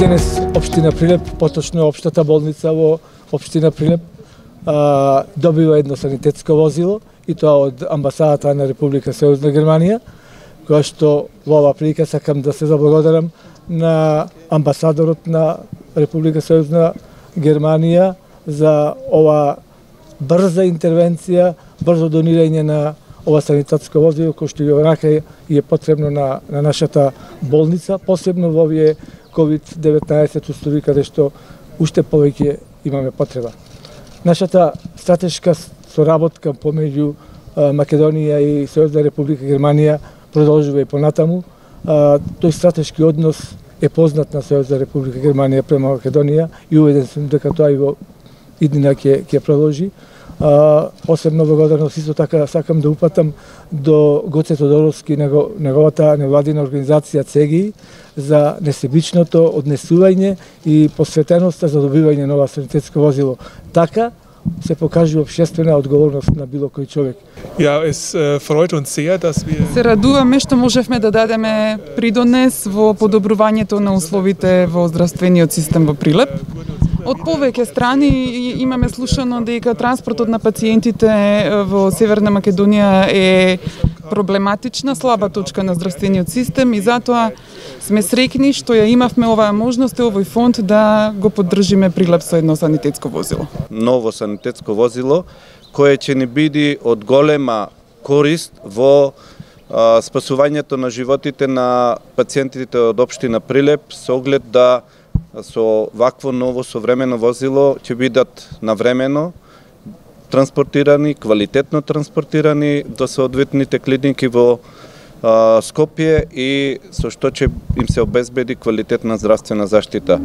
Денес општина Прилеп, поточно општата болница во општина Прилеп, добива едно санитетско возило и тоа од амбасадата на Република Сојузна Германија, која што во оваа прилика сакам да се заблагодарам на амбасадорот на Република Сојузна Германија за ова брза интервенција, брзо донирање на ова санитетско возило кој што и е потребно на нашата болница, посебно во овие COVID-19 устови каде што уште повеќе имаме потреба. Нашата стратешка соработка помеѓу Македонија и Сојузна Република Германија продолжува и понатаму. Тој стратешки однос е познат на Сојузна Република Германија према Македонија и уведен сум дека тоа и во иднина ќе продолжи. Посебно благодарност исто така сакам да упатам до Гоце Тодоровски, неговата невладина организација ЦЕГИ за несебичното однесување и посветеноста за добивање на ова санитетско возило. Така се покажува општествена одговорност на било кој човек. Ja, es freut uns sehr, dass wir Се радуваме што можевме да дадеме придонес во подобрувањето на условите во здравствениот систем во Прилеп. Од повеќе страни имаме слушано дека транспортот на пациентите во Северна Македонија е проблематична, слаба точка на здравствениот систем и затоа сме среќни што ја имавме оваа можност и овој фонд да го поддржиме Прилеп со едно санитетско возило. Ново санитетско возило кое ќе ни биде од голема корист во спасувањето на животите на пациентите од општина Прилеп со оглед да со вакво ново современо возило ќе бидат навремено транспортирани, квалитетно транспортирани до соодветните клиники во Скопје и со што ќе им се обезбеди квалитетна здравствена заштита.